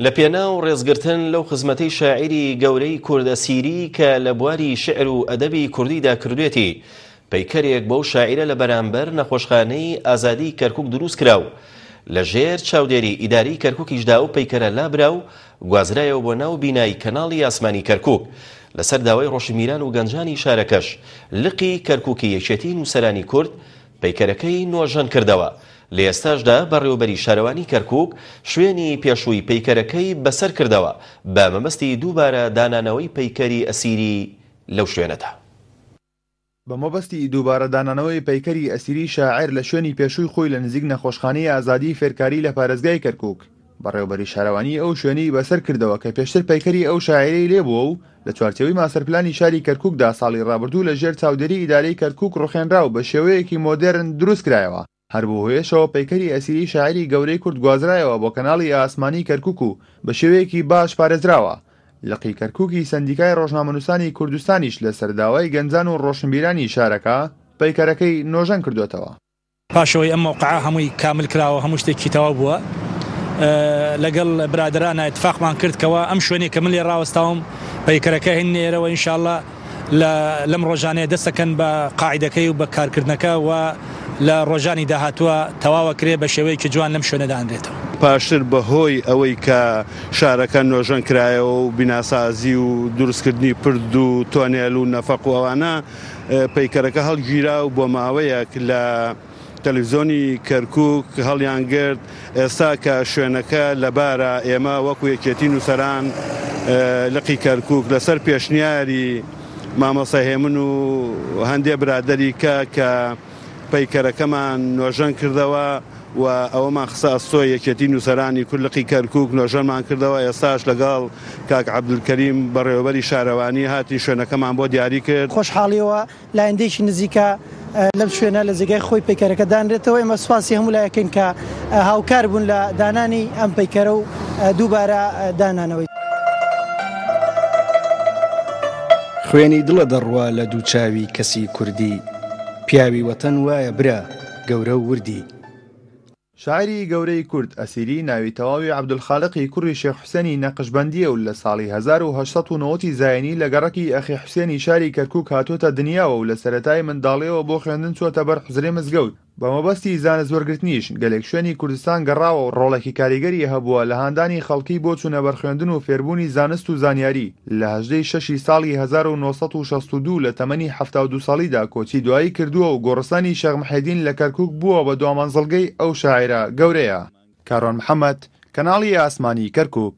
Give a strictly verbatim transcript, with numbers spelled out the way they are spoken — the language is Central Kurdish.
لە پێناو ڕێزگرتن لەو خزمەتەی شاعیری گەورەی کورد ئەسیری کە لە بواری شعر و ئەدەبی کوردیدا کردوێتی، پەیکەرێک بەو شاعیرە لە بەرامبەر نەخۆشخانەی ئازادی کەرکوک دروست کرا و لە ژێر چاودێری ئیداری کەرکوکیشدا ئەو پەیکەرە لابرا و گوازرایەوە بۆ ناو بینای کەناڵی ئاسمانی کەرکوک. لەسەر داوای ڕۆشنبیران و گەنجانی شارەکەش لقی کەرکوکی یەکێتی نووسەرانی کورد پەیکەرەکەی نۆژەن کردەوە. لە ئێستاشدا بەڕێوەبەری شارەوانی کەرکوک شوێنی پێشووی پەیکەرەکەی بەسەر کردەوە بە مەبەستی دووبارە دانانەوەی پەیکەری ئەسیری لەو شوێنەدا. بە مەبەستی دووبارە دانانەوەی پەیکەری ئەسیری شاعیر لە شوێنی پێشووی خۆی لە نزیک نەخۆشخانەی ئازادی فێرکاری لە پارێزگای کەرکوک، بەڕێوەبەری شارەوانی ئەو شوێنەی بەسەر کردەوە کە پێشتر پەیکەری ئەو شاعیرەی لێبووە و لە چوارچێوەی ماستەرپلانی شاری کەرکوکدا ساڵی ڕابردوو لە ژێر چاودێری ئیدارەی کەرکوک ڕوخێنرا و بە شێوەیەکی مۆدێرن دروست کرایەوە. هەر بەو هۆیەشەوە پەیکەری ئەسیری شاعیری گەورەی کورد گوازرایەوە بۆ کەناڵی ئاسمانی کەرکوک و بە شێوەیەکی باش پارێزراوە. لقی کەرکوکی سەندیکای ڕۆژنامەنووسانی کوردستانیش لەسەر داوای گەنجان و ڕۆشنبیرانی شارەکە پەیکەرەکەی نۆژەن کردوێتەوە. پاشەوەی ئەم مەوقعە هەمووی کامل کراوە، هەموو شتێکی تەواو بووە، لەگەڵ برادرانە اتفاقمان کرد کەوا ئەم شوێنەی کە من لێ ڕاوەستاوم پەیکەرەکە هێننە ئێرەوە، ئینشاءاللە لەم ڕۆژانەیە دەستەکەن بە قاعدەکەی و بە کارکردنەکە و لە ڕۆژانی داهاتووە تەواوە کرێ بە شێوەیەکی جوان لەم شوێنەدا ئەنرێتەوە. پاشتر بەهۆی ئەوەی کە شارەکە نۆژەن کرایەوە و بیناسازی و دروستکردنی پرد و تۆنێل و نەفەق و ئەوانە، پەیکەرەکە هەڵگیرا و بۆ ماوەیەک لە تەلەڤیزیۆنی کەرکوک هەڵیان گرت. ئێستا کە شوێنەکە لەبارە، ئێمە وەکو یەکێتی نووسەران لقی کەرکوک لەسەر پێشنیاری مامۆستا هێمن و هەندێ برادەری کە کە پەیکەرەکەمان نۆژەن کردەوە و ئەوەمان خستە ئەستۆی یەکێتی نووسەرانی کورد لقی کەرکوک نۆژەنمان کردەوە. ئێستاش لەگەڵ کاک عەبدولکەریم بەڕێوەبەری شارەوانی هاتین شوێنەکەمان بۆ دیاری کرد. خۆشحاڵیەوە لایەندێکی نزیکە لەم شوێنە لە جێگای خۆی پەیکەرەکە دانرێتەوە. ئێمە سوپاسی هەموو لایەکەین کە هاوکار بوون لە دانانی ئەم پەیکەرە و دووبارە دانانەوەی. خوێنی دڵە دەڕوا لە دوو چاوی کەسی کوردی، پیاوی وەتەن وایە برا گەورە و وردی. شاعیری گەورەی کورد ئەسیری ناوی تەواوی عەبدولخالقی کوڕی شێخ حوسێنی نەقشبەندییە و لە ساڵی هەزار و هەشت سەد و نەوەد زایینی لە گەڕەکی ئەخی حوسێنی شاری کەرکوک هاتووەتە دنیاوە و لە سەرەتای منداڵیەوە بۆ خوێندن چووەتە بەر حوجرەی مزگەوت. بە مەبەستی زانست وەرگرتنیش گەلێک شوێنی کوردستان گەڕاوە و ڕۆڵێکی کاریگەری هەبووە لە هاندانی خەڵکی بۆ چوونە بەرخوێندن و فێربوونی زانست و زانیاری. لە هەژدەی شەشی ساڵی هەزار و نۆ سەد و شەست و دوو لە تەمەنی حەفتا و دوو ساڵیدا کۆچی دوایی کردووە و گۆڕستانی شێخ محێدین لە کەرکوک بووە بە دوامەنزڵگەی ئەو شاعیرە گەورەیە. کاروان محەمەد، کەناڵی ئاسمانی کەرکوک.